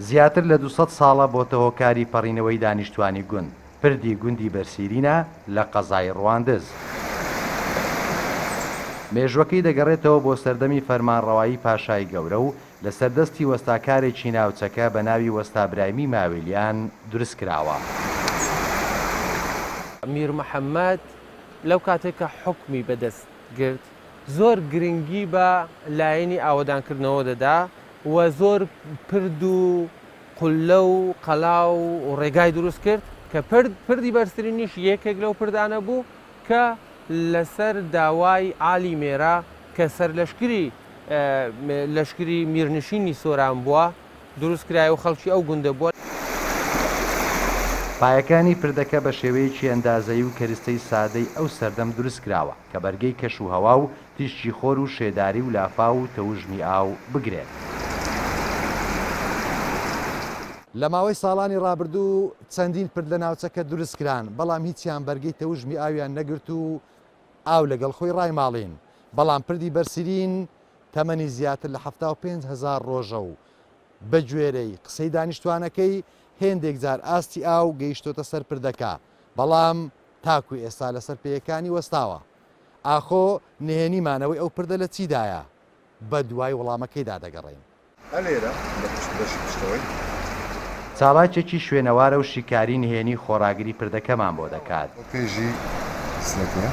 زیاتر لە 200 ساڵە بۆتە هۆکاری پەڕینەوەی دانیشتوانی گوند، پردی گوندی بەرسیرینە لە قەزای ڕواندز. مێژوەکەی دەگەڕێتەوە بۆ سەردەمی فەرمانڕەوایی پاشای گەورە و لەسەر دەستی وەستاکارێکی ناوچەکە بە ناوی وەستا برایمی ماویلیان دروستکراوە. میر محەممەد لەو کاتێک کە حوکمی بەدەست گرت زۆر گرنگی بە لایەنی ئاوەدانکردنەوە دەدا و زۆر پرد و قوللە و قەلا و ڕێگای دروست کرد کە پرد پردی بەرزترینیش یەکێک لەو پردانە بوو کە لەسەر داوای عالی مێرە کە سەرلەشکری لەشکری میرنشینی سۆران بووە دروست کرایە و خەڵکی ئەو گوندە بووە. پایەکانی پردەکە بە شێوەیەکی ئەندازەیی و کەرستەی سادەی ئەو سەردەم دروست کراوە کە بەرگەی کەش و هەوا و تیشکی خۆر و شێداری و لافاو و تەوژمی ئاو بگرێت. لە ماوەی ساڵانی ڕابردوو چەندین پرد لە ناوچەکە دروست کران، بەڵام هیچیان بەرگەی تەوژمی ئاویان نەگرت و ئاو لەگەڵ خۆی ڕایماڵین، بەڵام پردی بەرسیرین تەمەنی زیاتر لە 75,000 ڕۆژە و بەگوێرەی قسەی دانیشتوانەکەی هێندێک جار ئاستی ئاو گەیشتۆتە سەر پردەکە، بەڵام تاکو ئێستا لەسەر پێیەکانی وەستاوە. ئاخۆ نهێنی مانەوەی ئەو پردە لە چیدایە؟ بەدوای وەڵامەکەیدا دەگەڕێین. ئەلێرە لە پشت بەشی پشتەوەی. چالاکێکی شوێنەوارە و شیکاری نهێنی خۆڕاگری پردەکەمان بۆ دەکات. بۆ پێشی سنەکەیە.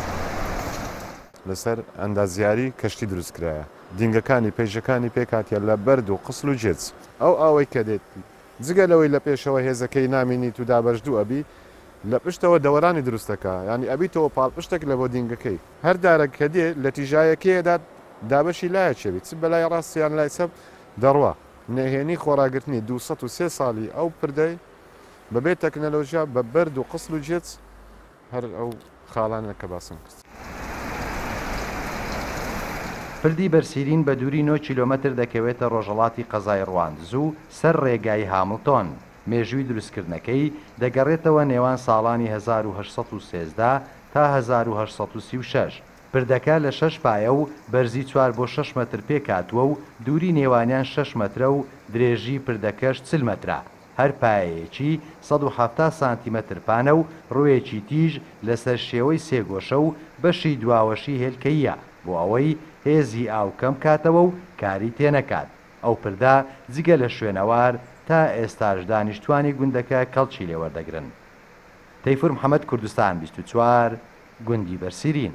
لەسەر ئەندازیاری کەشتی دروست کرایە. دینگەکانی پەیژەکانی پێکهاتیە لە بەرد و قسل و جێچ. ئەو ئاوەی کە دێت جگە لەوەی لە پێشەوە هێزەکەی نامینیت و دابەش دوو ئەبی، لە پشتەوە دەوەرانی دروست دەکا، یانی ئەبیتەوە پاڵپشتێک لە بۆ دینگەکەی. هەر دارەک کە دێ لە تیژایەکەیەدا دابەشی لایەکی ئەبی، چ بەلای ڕاست یان لای چەپ دەڕوا. نهێنی خۆڕاگرتنی 203 ساڵی ئەو پردەی بە بێ تەکنەلۆژیا بە بەرد و قسل و جێچ هەر ئەو خاڵانە کە باسم کرد. پردی بەرسیرین بە دووری 9 کیلۆمەتر دەکەوێتە ڕۆژهەڵاتی قەزای ڕواندز و سەر ڕێگای هامڵتۆن. مێژووی دروستکردنەکەی دەگەڕێتەوە نێوان ساڵانی 1813 تا 1836. پردەکە لە شەش پایە و بەرزی 4 بۆ 6 مەتر پێکهاتووە و دووری نێوانیان 6 مەترە و درێژی پردەکەش 40 مەترە. هەر پایەیەکی 170 سانتیمەتر پانە و ڕوویەکی تیژ لەسەر شێوەی سێگۆشە و بەشی دواوەشی هێلکەییە بۆ ئەوەی هێزی ئاو کەم کاتەوە و کاری تێنەکات. ئەو پردە جگە لە شوێنەوار تا ئێستاش دانیشتوانی گوندەکە کەڵکی لێوەردەگرن. تەیفور محەمەد، کوردستان 24، گوندی بەرسیرین.